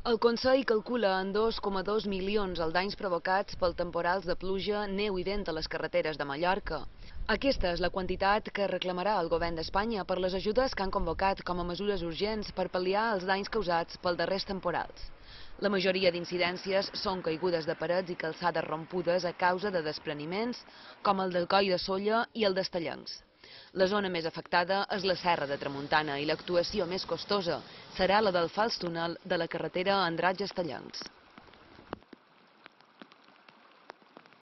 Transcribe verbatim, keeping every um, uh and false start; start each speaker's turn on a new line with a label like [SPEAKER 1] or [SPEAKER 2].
[SPEAKER 1] El Consell calcula en dos coma dos milions els danys provocats pel temporals de pluja, neu i vent a les carreteres de Mallorca. Aquesta és la quantitat que reclamarà el govern d'Espanya per les ajudes que han convocat com a mesures urgents per pal·liar els danys causats pels darrers temporals. La majoria d'incidències són caigudes de parets i calçades rompudes a causa de despreniments, com el del Coll de Sóller i el d'Estellencs. La zona més afectada és la Serra de Tramuntana i l'actuació més costosa serà la del fals túnel de la carretera Andratx-Estellencs.